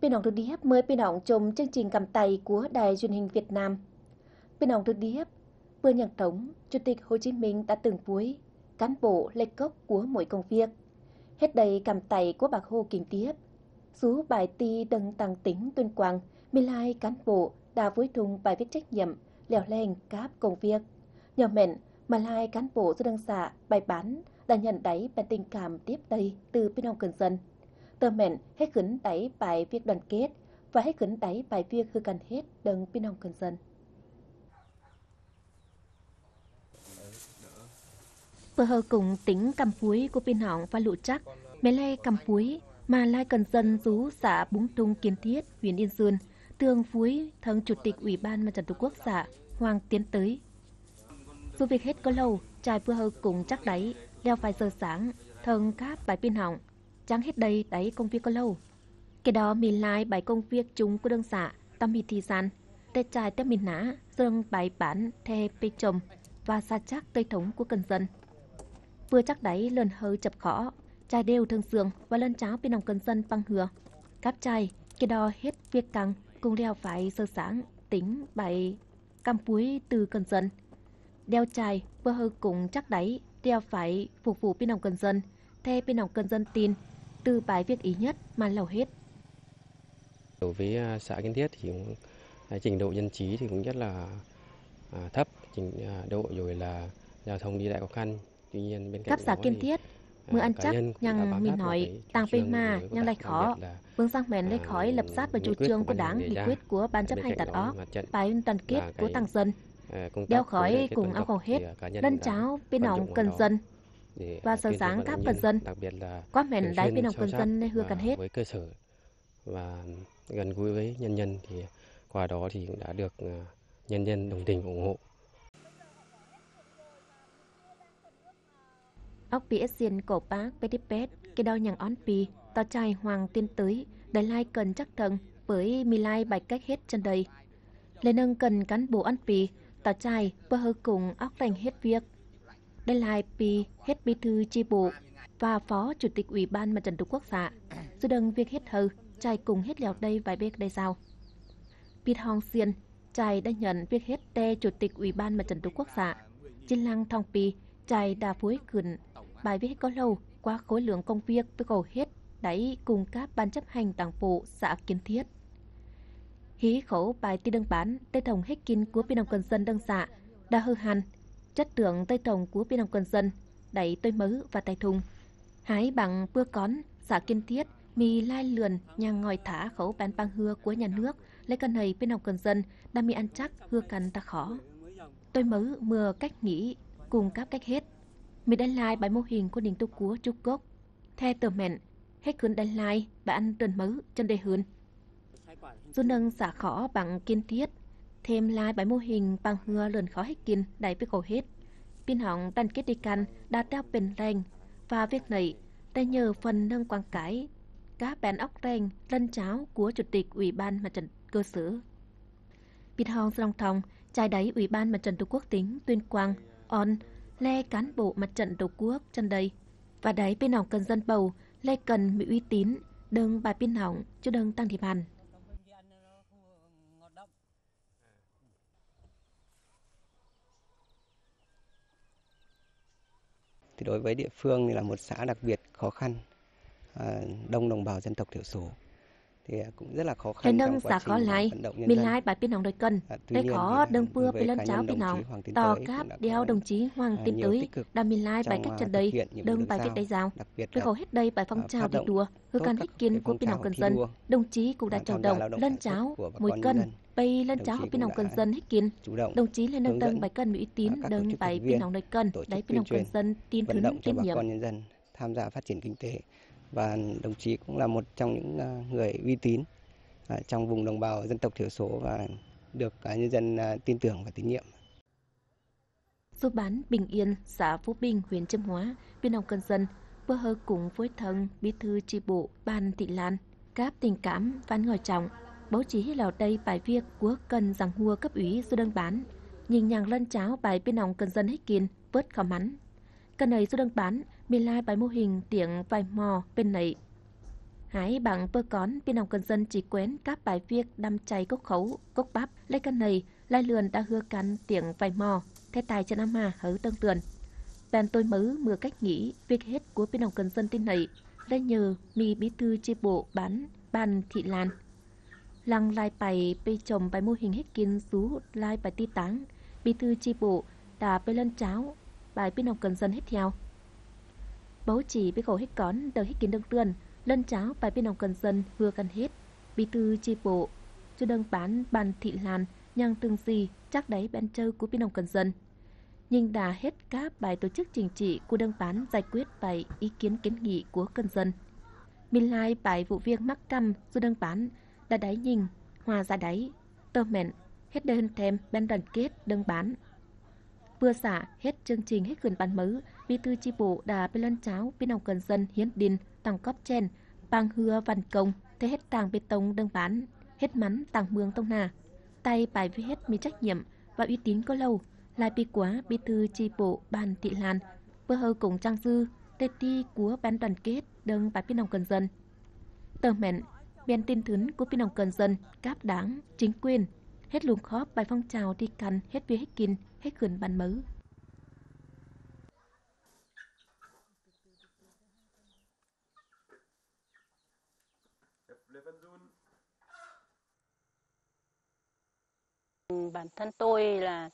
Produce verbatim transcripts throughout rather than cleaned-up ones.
Phi nọng được điếp mời phi nọng chôm chương trình Cắm Tay của Đài Truyền hình Việt Nam. Phi nọng được điếp, Pươn Nhăng Trống, Chủ tịch Hồ Chí Minh đã từng vui cán bộ lệch gốc của mỗi công việc. Hết đây cắm tay của Bác Hồ kính tiếp. Sú bài ti đâng tăng tỉnh Tuyên Quang, mì lai cán bộ đã vui thung bài viết trách nhiệm, lẹo leng cáp công việc. Nhờ mẹn, mà lai cán bộ sư đương xã bài bản đã nhận đáy bản tình cảm tiếp tay từ phi nọng cần dân. Tơ mẹn, hết khửn đáy bài việc đoàn kết và hết khửn đáy bài việc hư căn hết đâng phi nọng cần dân. Pơ hơ cùng tỉnh Căm Púi của phi nọng và lũ chắc, mẹ lai Căm Púi, mà lai cần dân rú xã Búng Trung Kiên Thiết, huyện Yên Sơn, tương phúi thâng Chủ tịch Ủy ban Mặt trận Tổ quốc xã Hoàng Tiến Tới. Dù việc hết có lâu, chài pơ hơ cùng chắc đáy, leo phải giờ sáng, thâng cáp bài phi nọng, chắng hết đây đáy công việc có lâu. Kẻ đó mì lai bài công việc chung của đương xã, tâm mì thi san, tê chài tê mì nả, dâng bài bản, thê pê chôm, và xa chắc tơi thống của cần dân. Pơ chắc đáy lơn hơi chập khó, chài đều thường xương và lơn cháo phi nọng cần dân păng hừa. Cáp chài, kẻ đó hết việc căng, cùng leo phải giờ sáng, tính bài Căm Púi từ cần dân. Đeo chài, pơ hơ cùng chắc đáy, đeo phải phục vụ phi nọng cần dân, thê phi nọng cần dân tin, từ bài việc ý nhất mà lầu hết. Đối với, à, xã Kiên Thiết thì cũng, à, trình độ dân trí thì cũng rất là, à, thấp, trình, à, độ rồi là giao thông đi lại khó khăn. Tuy nhiên bên cạnh Cắp xã đó Kiên thì, Thiết, à, mưa ăn cá chắc nhân cũng đã nhằng bám mìn sát vào hỏi, cái chủ tăng pê trương ma đối với nhằng cả lai khó. Đặc biệt là, Phương Sang Mẹn lai à, khỏi lập sát vào nghị chủ quyết trương của của Ban Đảng, Hành Nghị Đề ra. Quyết của Ban chấp Bên hành cạnh đặt đó óp, là bài đoàn kết cá của nhân tăng dân. À, công Đeo tác khối khỏi đoàn kết cùng dân ao tộc khẩu thì, hết, à, cá nhân lân cũng đã cháo, phi nọng cần dân. Để, và à, sở tuyên truyền sáng vận động cắp nhân dân. Đặc biệt là Quá mẹn thường đáy xuyên phi nọng sâu cần sát, dân nên hưa à, cần hết. Với cơ sở và gần gũi với nhân dân thì qua đó thì cũng đã được, à, nhân dân đồng tình ủng hộ. Ốc pi ết xiên Cổ Pác pê đếp pét, kê đo nhằng ón pi, tỏ chài Hoàng Tiên Tới, đảy lai cần chắc thâng, bởi mì lai bài cách hết chân đây. Lê nâng cần cán bộ ón pi, tỏ chài, pơ hơ cùng ốc rèng hết việc. Đảy lai pi, hết bí thư chi bộ, và phó chủ tịch Ủy ban Mặt trận Tổ quốc xã. Dù đâng việc hết hơ, chài cùng hết lẹo đây vài bếp đảy giao. Pịt Hong Xiên, chài đã nhận việc hết tê chủ tịch Ủy ban Mặt trận Tổ quốc xã. Chín lăng thong pi, chài đã phối khửn bài viết có lâu qua khối lượng công việc với hầu hết đảy cùng các ban chấp hành đảng bộ xã Kiên Thiết. Hí khẩu bài ti đương bản, tê thông hết kin của phi nông cần dân đương xã, đã hư hẳn, chất lượng tê thông của phi nông cần dân, đảy tôi mớ và tài thùng. Hái bằng pưa cón, xã Kiên Thiết, mì lai lượn nhang ngòi thả khẩu bản pang hưa của nhà nước, lễ cần hầy phi nông cần dân, đã mì ăn chắc hưa cần ta khó. Tôi mớ mưa cách nghĩ, cùng cáp cách hết. Mì đảy lai bài mô hình của nền tu của Trung Quốc. Theo tờ mẹn, hết khửn đảy lai bài ăn tuần mớ chân đề hơn. Dù nâng xã khó bằng Kiên Thiết, thêm lai bài mô hình pang hưa lượn khó hết kin đảy với khổ hết. Pin hỏng đàn kết đi căn đã teo pền rèng, và việc này đã nhờ phần nâng quảng cái, cá bèn ốc rèng, lân cháo của Chủ tịch Ủy ban Mặt trận cơ sở. Pịt Hong Srong Thong, chài đáy Ủy ban Mặt trận Tổ quốc tỉnh Tuyên Quang, on, lê cán bộ Mặt trận Tổ quốc chân đây, và đáy phi nông cần dân bầu, lê cần mì uy tín, đương bài phi nông, chứ đương tăng điểm hẳn. Thì đối với địa phương thì là một xã đặc biệt khó khăn, à, đông đồng bào dân tộc thiểu số. Thì, à, cũng rất là khó khăn trong quá trình, à, vận động nhân dân. Lê nâng xã khó lai, mì lai bài phi nông đôi cân. À, tuy nhiên thì, à, đối với cá nhân đồng chí Hoàng Tiến Tới cũng đã có, à, nhiều tích cực trong, à, thực hiện nhiệm vụ được giao. Lê khó đương pưa phi lân cháo phi nông, tỏ cáp đeo đồng chí Hoàng Tiến Tới, đa mì lai bài cách chân đây, đương bài viết đảy giao. Đặc biệt là, à, phát động tốt các cái phong trào thi đua, hư căn hết kin của phi nông cần dân. Đồng chí cũng đã chủ động lân cháo, mùi cân, pây lân cháo phi nông cần dân hết kin. Đồng chí lê nâng tâng bài cân mì uy tín, đương bài phi nông đôi cân, đáy phi nông cần dân, tin thứng tín nhiệm. Đồng chí cũng đã chủ động, à, hướng dẫn, à, các cái thành viên vận động cho bà con nhân dân, à, tham gia phát triển kinh tế. Và đồng chí cũng là một trong những, à, người uy tín, à, trong vùng đồng bào dân tộc thiểu số và được, à, nhân dân, à, tin tưởng và tín nhiệm. Dù bản Bình Yên, xã Phú Bình, huyện Chiêm Hóa, phi nông cần dân, pơ hơ cùng phối thân, bí thư chi bộ, ban thị lan, cáp tình cảm, văn ngòi trọng, báo chí hí lò đây bài viết của cần giảng hùa cấp ủy sư đơn bản, nhing nhang lân cháo bài phi nông cần dân hết kin, vớt khó mắn. Cần ấy sư đơn bản, mì lai bài mô hình tiệng vài mò bên nảy. Hải bảng pơ cón, phi nọng cần dân chỉ quen cáp bài viêc đăm chảy cốc khẩu, cốc bắp, lê căn này, lai lượn đã hưa căn tiệng vảy mò, thế tài chân ama hớ tơng tươn. Bèn tôi mớ mưa cách nghĩ, việc hết của phi nọng cần dân tin này, lê nhờ mì bí thư chi bộ bản, bản thị lan. Lăng lai pảy pê chồng bài mô hình hết kin sú lai pảy ti táng, bí thư chi bộ đã pê lân cháo, bài phi nọng cần dân hết theo. Bấu chỉ pê khổ hết cón, đờ hết kin đơng tươn, lân cháo bài phi nọng cần dân hưa căn hết. Bí thư chi bộ, chu đơng bản, bản thị lan, nhang tường gì, chắc đáy bên châu của phi nọng cần dân. Nhưng đã hết các bài tổ chức chính trị của đơng bản giải quyết bài ý kiến kiến nghị của cần dân. Mì lai bài vụ việc mắc căm du đơng bản, đã đáy nhing, hòa giải đáy, tơ mẹn, hết đơn thêm bên đoàn kết đơng bản. Vừa xả hết chương trình hết khuyến bản mớ, bí thư chi bộ đã pê lân cháo phi nọng cần dân hiến đin, tặng cóp chen, pang hưa văn công, thế hết tàng bê tông đơng bản, hết mắn tàng mương tông na. Tay bài với hết mì trách nhiệm và uy tín có lâu, lai pi quá bí thư chi bộ bản thị lan, bơ hơ cũng trang dư, tê ti của ban đoàn kết đơng bài phi nọng cần dân. Tơ mẹn, biên tin thứn của phi nọng cần dân, cáp đảng, chính quyền, hết luông khóp bài phong trào đi căn, hết việc hết kin, hết khuyến bản mớ. Bản thân tôi là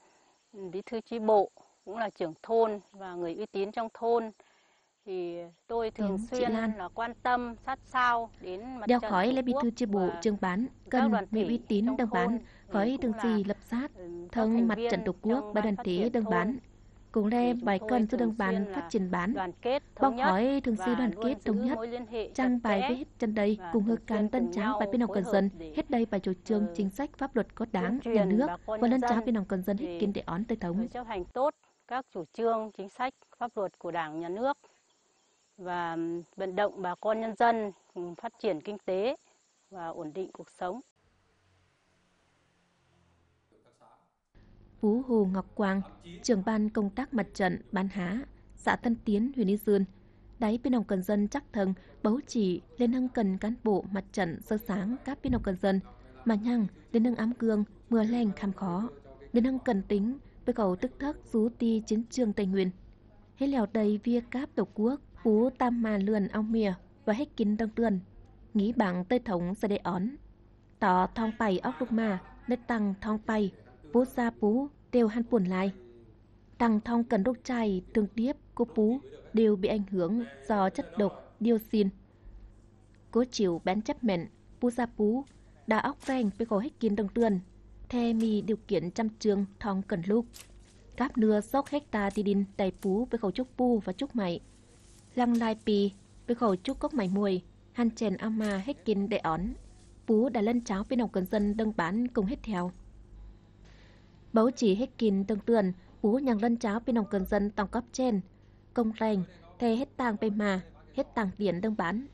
bí thư chi bộ, cũng là trưởng thôn và người uy tín trong thôn. Thì tôi thường xuyên là quan tâm sát sao đến mặt trận Tổ quốc và các đoàn thể trong thôn. Đeo khỏi là bí thư chi bộ trưởng bản, cần người uy tín đồng bản, khỏi đương gì lập sát, thông mặt trận Tổ quốc và đoàn thể đồng bản. Cũng lẽ bài cần sự đồng bản phát triển bản. Bóc khỏi thường sự đoàn kết thống nhất, chăng bài với hết chân đây, cùng hư can tân cháo bài phi nọng cần dân, hết đây bài chủ trương, chính sách, pháp luật của Đảng, nhà nước, và lân cháo phi nọng cần dân hết kiến để ón tới thống. Chấp hành tốt các chủ trương, chính sách, pháp luật của Đảng, nhà nước và vận động bà con nhân dân, ừ, phát triển kinh tế và ổn định cuộc sống. Pú Hồ Ngọc Quang, trưởng ban công tác mặt trận bản Hả, xã Tân Tiến, huyện Nghi Sơn, đáy phi nọng cần dân chắc thâng, bấu chỉ Liên hưng cần cán bộ mặt trận sơ sáng các phi nọng cần dân, mà nhăng Liên hưng ám cương, mưa leng kham khó. Liên hưng cần tính, bê cầu tức thất sú ti chiến trường Tây Nguyên. Hết lẹo đây vía cáp Tổ quốc, pú tam mà lượn ao mìa, và hết kín đăng tươn, nghĩ bằng tơi thống sẽ để ón. Tỏ thong pày óc lục mà, nết tăng thong pày, pú sa pú, đều hăn puồn lai. Tăng thong cần rục chai, tương điếp, cô pú, đều bị ảnh hưởng do chất độc dioxin. Cô chịu bán chấp mẹn, pú sa pú, đa óc reng bê khổ hết kín đăng tươn, the mì điều kiện chăm trường thong cần lục. Cáp nưa sốc hecta ti đin đảy pú bê khổ chúc pu và chúc mạy. Lăng lai pi, bê khổ chúc cốc mạy muội, hăn chèn ao ma hết kín để ón. Pú đã lân cháo phi nọng cần dân đăng bản cùng hết theo. Bấu chỉ hết kín đăng tươn, pú nhăng lân cháo phi nọng cần dân tòng cóp chen, công reng, the hết tang pê ma, hết tang điện đăng bản.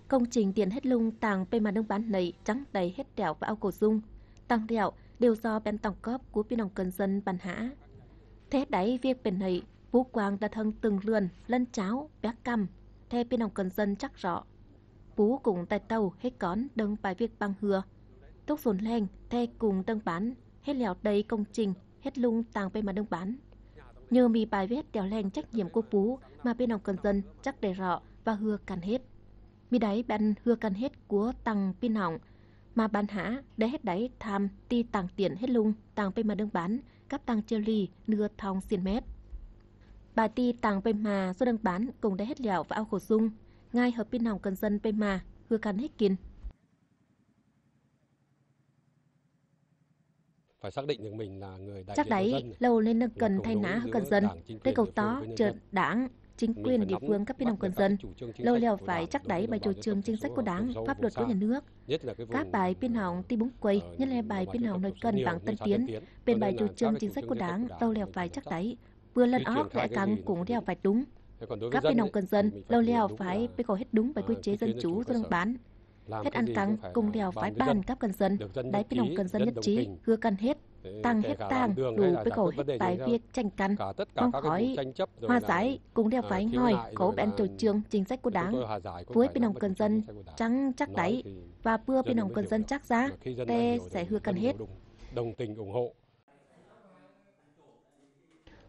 Công trình điện hết lung tang pê ma đăng bản nầy chắng đảy hết đẻo và ao cổ dung. Tang đẻo đều do bên tổng cóp của phi nọng cần dân bản hả. Thế đáy việc bên nầy, pú quang đã thâng từng lượn, lân cháo, béc căm, the phi nọng cần dân chắc rõ. Pú cũng tài tàu hết cón đăng bài việc bằng hưa. Túc dồn leng, the cùng đăng bản, hết lẹo đây công trình, hết lung tang pê ma đăng bản. Nhờ mì bài viết đẻo leng trách nhiệm của pú mà phi nọng cần dân chắc đảy rõ và hưa căn hết. Mì đáy băn hưa căn hết của tăng phi nọng, mà bản hả đáy hết đáy tham ti tang tiện hết lung tang pê ma đăng bản, cắp tăng chia ly nưa thong xiên mét. Bài ti tang pê ma số đăng bản cũng đáy hết lẹo và ao khổ dung, ngai hợp phi nọng cần dân pê ma hưa căn hết kín. Chắc đáy, lâu nên nâng cần thay nả hư cần dân, tê cầu tó, trượt đảng, chính quyền địa phương cấp phi nọng cần dân. Lâu lẹo phải chắc đáy bài chủ trương chính sách của Đảng, pháp luật của nhà nước. Các bài phi nọng ti búng quầy, nhất là bài phi nọng nơi cần vắng tân tiến, bên bài chủ trương chính sách của Đảng, lâu lẹo phải chắc đáy. Vừa lần ók lẽ căng cũng lẹo phải đúng. Cấp phi nọng cần dân, lâu lẹo phải bê cầu hết đúng bài quy chế dân chủ do đăng bản. Hết ăn căng, cùng lẹo phải bàn cắp cần dân, đáy phi nọng cần dân nhất trí, hưa cần hết. Tặng hiến tang, đủ với khẩu hiến bài việc tranh cãi, mong khỏi hòa giải cùng đeo vai ngòi khổ bên chủ trương chính sách của Đảng với bên ông cư dân trắng chắc đáy và bưa bên ông cư dân chắc giá, tê sẽ hứa cắn hết.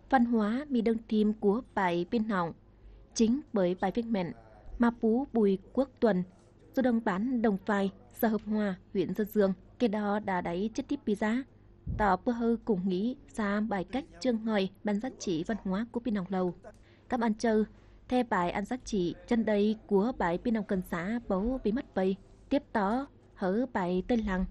Văn hóa mì đơng thim của bài bên họng, chính bởi bài việc mẹn mà Pú Bùi Quốc Tuần, Dụ Đông Bán Đồng Phai, xã Hợp Hòa, huyện Sơn Dương, kẻ đó đã đảy chết tiếp pi giá. Tỏ pơ hư cũng nghĩ ra bài cách chương ngòi bản giá trị văn hóa của bên họng lâu. Cắm ăn chơ, the bài ăn giá trị chân đây của bài bên họng cần xã bấu bị mất bầy, tiếp đó hở bài tên lăng.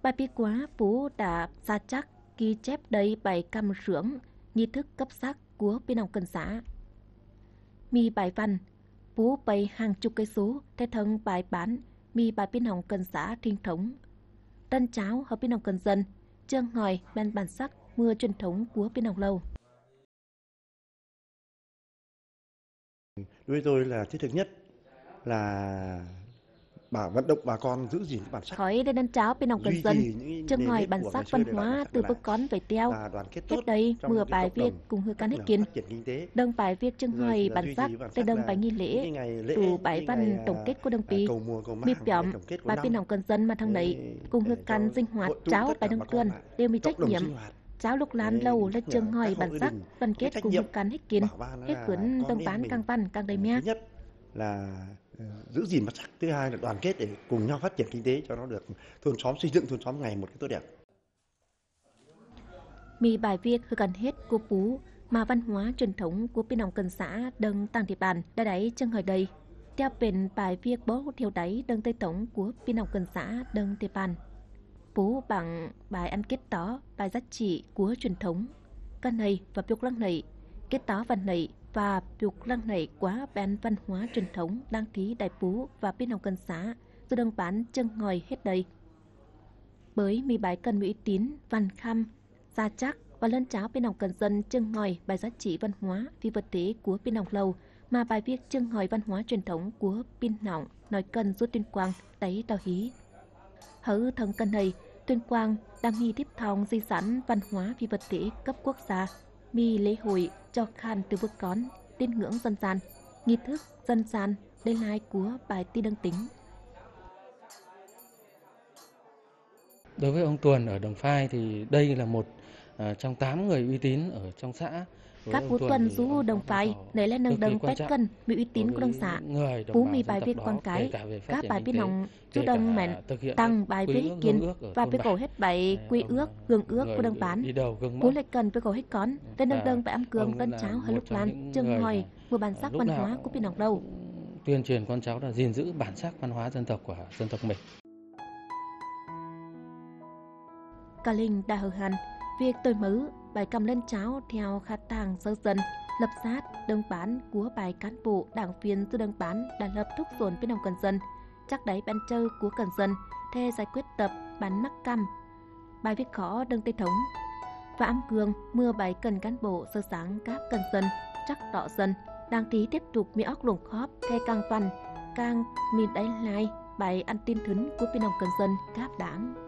Bài bi quá Pú đã xa chắc ghi chép đầy bài căm sướng, nghi thức cấp sắc của bên họng cần xã. Mì bài văn, Pú bay hàng chục cây số, the thâng bài bản, mì bài bên họng cần xã truyền thống. Tân cháo hợp bên họng cần dân, chương ngòi, bản bản sắc, mưa truyền thống của bên họng lâu. Đối với tôi là thiết thực nhất là bảo vận động bà con giữ gìn cái bản sắc. Khỏi đây năn cháo bên họng cần dân, chương ngòi bản sắc văn hóa từ bố con về theo. Hết đây mưa bài việc cùng hư căn hết kín. Đơng bài việc chương ngòi bản sắc, tê đơng bài nghi lễ, tụ bài văn tổng kết của đơn vị. Mì piỏm, bài bên họng cần dân mà thằng nấy, cùng hư căn sinh hoạt cháo bài đơng tuần, đều mì trách nhiệm. Cháo lục lan lâu là chương ngòi bản sắc, đoàn kết cùng hư căn hết kín, hết cuốn đơng bán căng văn căng đầy mía. Là, ờ, giữ gìn bản sắc, thứ hai là đoàn kết để cùng nhau phát triển kinh tế cho nó được thôn xóm, xây dựng thôn xóm ngày một cái tốt đẹp. Mì bài việc hư căn hết của Pú, mà văn hóa truyền thống của bên họng cần xã đơng tăng địa bàn đã đảy chương ngòi đầy. Theo bên bài việc bố thiêu đáy đơng tây thống của bên họng cần xã đơng địa bàn. Pú bằng bài ăn kết tó, bài giá trị của truyền thống. Căn này và piục lăng này, kết tó văn này và piục lăng này quá bên văn hóa truyền thống đang thí đại Pú và bên họng cần xã, dù đồng bản chương ngòi hết đây. Bởi mì bài cần mì uy tín, văn khăm, xa chắc và lơn cháo bên họng cần dân chương ngòi bài giá trị văn hóa phi vật thể của bên họng lâu, mà bài việc chương ngòi văn hóa truyền thống của bên họng nói cần rút Tuyên Quang đảy tàu hí. Hở thâng cần này, Tuyên Quang đang nghi tiếp thòng di sản văn hóa phi vật thể cấp quốc gia, mì lễ hội cho khan từ vượt con, tín ngưỡng dân gian, nghi thức dân gian, đế lai của bài ti đăng tính. Đối với ông Tuần ở Đồng Phai thì đây là một, à, trong tám người uy tín ở trong xã. Cáp Pú Tuần dú Đồng Phai, nảy lẽ nâng đơng pét cần, mì uy tín của đồng xã. Pú mì bài việc quảng cái, cáp bài bên họng, dú đồng mẹn, tăng bài việc kiên, và việc cầu hết bài quy ước, hương ước của đồng bản. Pú lệ cần việc cầu hết con, tên nâng đơng bài ăn cương tân cháo hơi lục lan, chương ngòi, mùa bản sắc văn hóa của bên họng đâu. Tuyên truyền con cháu là gìn giữ bản sắc văn hóa dân tộc của dân tộc mình. Cả linh đã hầu hẳn, việc tôi mớ, bài căm lân cháo theo khả tàng sớ dân, lập sát, đơn bản của bài cán bộ, đảng viên từ đơn bản đã lập thúc dồn bên họng cần dân, chắc đáy ban châu của cần dân, the giải quyết tập bản mắc căm, bài việc khó đương tây thống. Và ấm gương, mưa bài cần cán bộ sơ sáng cáp cần dân, chắc tọ dân, đang tí tiếp tục mi óc luồng khóp, the căng văn, căng mi đáy lai, bài ăn tin thứn của bên họng cần dân cáp đảng.